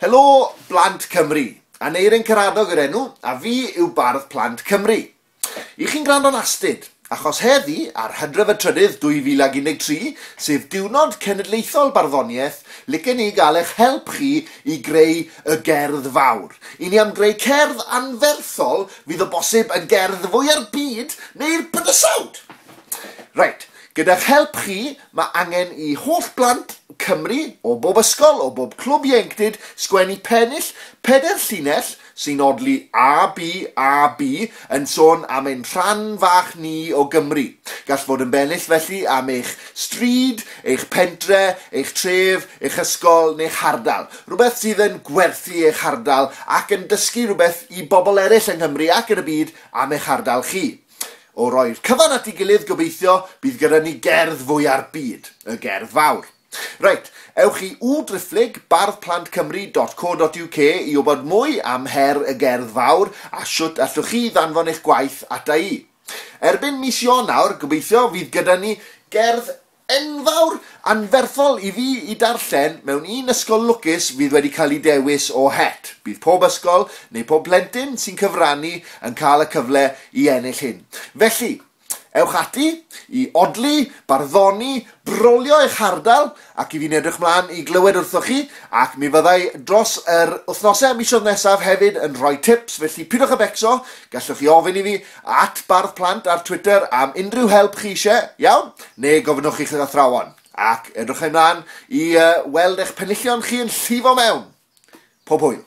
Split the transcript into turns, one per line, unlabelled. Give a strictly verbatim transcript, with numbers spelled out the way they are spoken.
Helo Blant Cymru, Aneirin Karadog yr enw, a fi yw Bardd Plant Cymru. I chi'n gwrando'n astud, achos heddi, ar Hydref y trydydd dwy fil ag un deg tri, sef Diwrnod Cenedlaethol Barddoniaeth, licen ni gael eich help chi i greu y gerdd fawr. I ni am greu cerdd anferthol fydd o bosib yn gerdd fwya'r byd neu'r bydysawd. Reit, gyda'ch help chi, mae angen i holl blant Cymru, o bob ysgol, o bob clwb ieuenctid, sgwennu pennill, pedair llinell sy'n odli A, B, A, B, yn sôn am ein rhan fach ni o Gymru. Gall fod yn bennill felly am eich stryd, eich pentre, eich tref, eich ysgol neu'ch hardal. Rhywbeth sydd yn gwerthu eich hardal ac yn dysgu rhywbeth i bobl eraill yng Nghymru ac yn y byd am eich hardal chi. O roi'r cyfan at ei gilydd, gobeithio, bydd gyda ni gerdd fwya'r byd, y gerdd fawr. Reit, ewch i w driphlyg bardd plant cymru dot co dot U K i wybod mwy am her y gerdd fawr a shwt allwch chi ddanfon eich gwaith ata i. Erbyn mis Ionawr, gobeithio, fydd gyda ni gerdd enfawr anferthol i fi i darllen mewn un ysgol lwcus fydd wedi cael ei dewis o het. Bydd pob ysgol neu pob plentyn sy'n cyfrannu yn cael y cyfle i ennill hyn. Felly, ewch ati i odli, barddoni, brolio eich hardal, ac i fi'n edrych mlaen i glywed wrthoch chi, ac mi fyddai dros yr wythnosau a misoedd nesaf hefyd yn rhoi tips, felly pidwch â becso, gallwch chi ofyn i fi at Bardd Plant ar Twitter am unrhyw help chi eisiau, iawn? Neu gofynnwch i'ch athrawon, ac edrych ymlaen i, uh, weld eich penillion chi yn llifo mewn. Pob hwyl!